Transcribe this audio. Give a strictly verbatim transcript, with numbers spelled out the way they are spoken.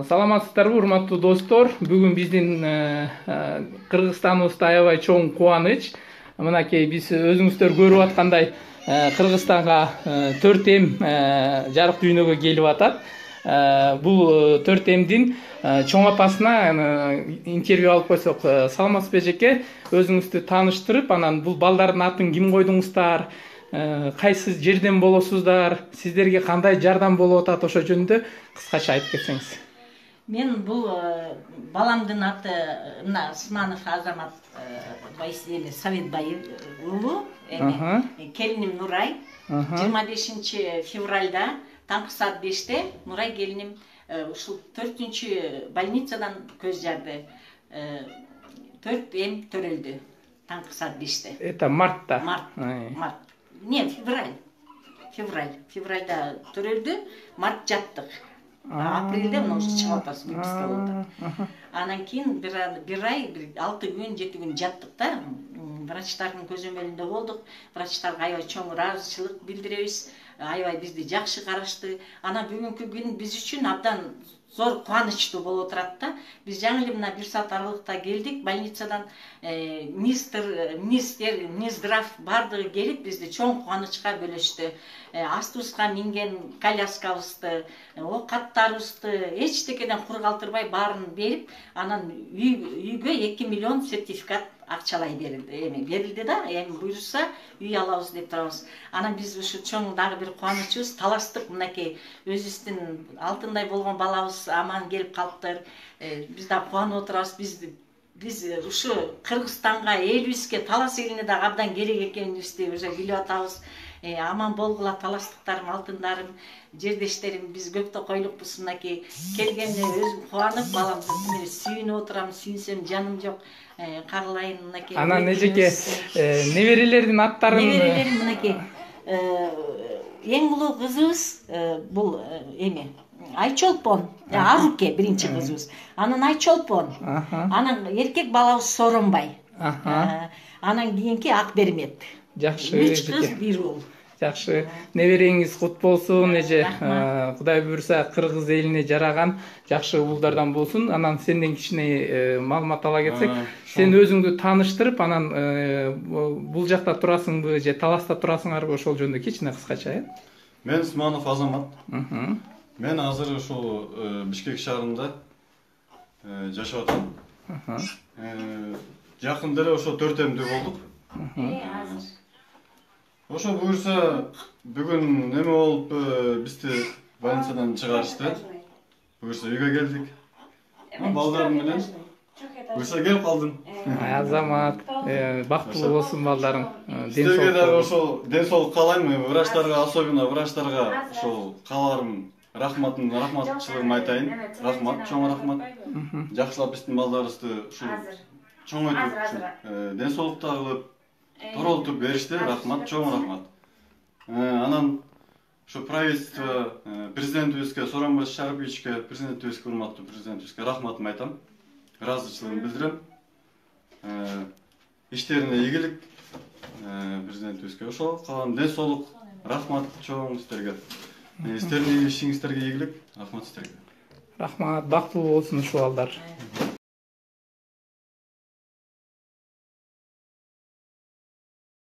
Саламатсыздарбы, урматтуу достор. Бүгүн биздин Кыргызстаныбызда аябай чоң кубаныч. Мынакей биз өзүңүздөр көрүп аткандай Кыргызстанга төрт эм жарык дүйнөгө келип атат. Бул төрт эмдин чоң апасына интервью алып койсок, саламатсызбы эжеке? Өзүңүздү тааныштырып, анан бул балдардын атын ким койдуңуздар? Кайсы жерден болосуздар? Сиздерге кандай жардам болуп атат? Ошо жөнүндө кыскача айтып кетсеңиз. Мен бул баламдын аты мына Сманов Азамат Советбай уулу, эми келиним Нурай. жыйырма бешинчи февралда таңкы саат беште Нурай келиним ушул төртүнчү больницадан көз жарды. төрт эм төрөлдү таңкы саат беште. Это мартта. Март. Март. Не, февраль. Февраль. Февральда төрөлдү, март жаттык. Апрелде мына уже чыгып атабыз, выписка болду. Анан кийин бир ай, алты күн, жети күн жаттык да. Врачтардын көзөмөлүндө болдук. Врачтарга аябай чоң ыраазычылык билдиребиз. Аябай бизди жакшы карашты. Анан бүгүнкү күн биз үчүн абдан зор кубанычтуу болуп турат да. Биз жаңы эле мына бир саат аралыкта келдик больницадан. Министр, министр, Минздрав бардыгы келип бизди чоң кубанычка бөлөштү. Астыбызга минген коляскабызды, оокаттарыбызды эчтекеден кур калтырбай баарын берип, анан үйгө эки миллион сертификат акчалай берилди. Эми берилди да, эми буйрса үй алабыз деп турабыз. Анан биз ушу чоң дагы бир кубанычыбыз, талаштык мынакей өзүбүздүн алтындай болгон балабыз аман келип калыптыр. Биз да кубанып отурабыз. Биз биз ушу Кыргызстанга, элибизге, Талас элине дагы абдан керек экенибизди уже билип атабыз. Аман болгула талаштыктарым, алтындарым, жердештерим, биз көптө койлукпуз. Мынакей келгенде өзүм кубанып, баламды сүйүнүп отурам, сүйүнсөм жаным жок. Кагылайын мынакей. Анан эжеке неберелердин аттарын? Неберелерим мынакей. Эң улуу кызыбыз бул эми Айчолпон, Аруке биринчи кызыбыз. Анан Айчолпон. Анан эркек балабыз Соронбай. Анан кийинки Акбермет. Жакшы. Үч кыз, бир уул. Жакшы. Небереңиз кут болсун эже. Кудай буйрса Кыргыз элине жараган жакшы уулдардан болсун. Анан сенден кичине маалымат ала кетсек, сен өзүңдү тааныштырып, анан бул жакта турасыңбы же Таласта турасыңарбы, ошол жөнүндө кичине кыскача, э? Мен Сманов Азамат. Мен азыр ушул Бишкек шаарында жашап атам. Жакында эле ошо төрт эмдүү болдук. Ошо буйрса бүгүн неме болуп бизди больницадан чыгарышты. Буйрса үйгө келдик. Балдарым менен буйрса келип калдым. Азамат, бактылуу болсун балдарың. Сизге дагы ошол ден соолук каалайм. Врачтарга, особенно врачтарга ошол кааларым, рахматын, рахматчылыгымды айтайын. Рахмат, чоң рахмат. Жакшылап биздин балдарыбызды ушул чоңойтуп, ден соолукту кылып, торолтуп беришти. Рахмат, чоң рахмат. Анан ушу правительство, президентибизге, Сооронбай Шариповичке, президентибизге, урматтуу президентибизге рахматымды айтам. Ыраазычылыгымды билдирем. Иштерине ийгилик президентибизге. Ошол калган ден соолук, рахмат чоң сиздерге. Сиздердин ишиңиздерге ийгилик, рахмат сиздерге. Рахмат, бактылуу болсун ушул балдар.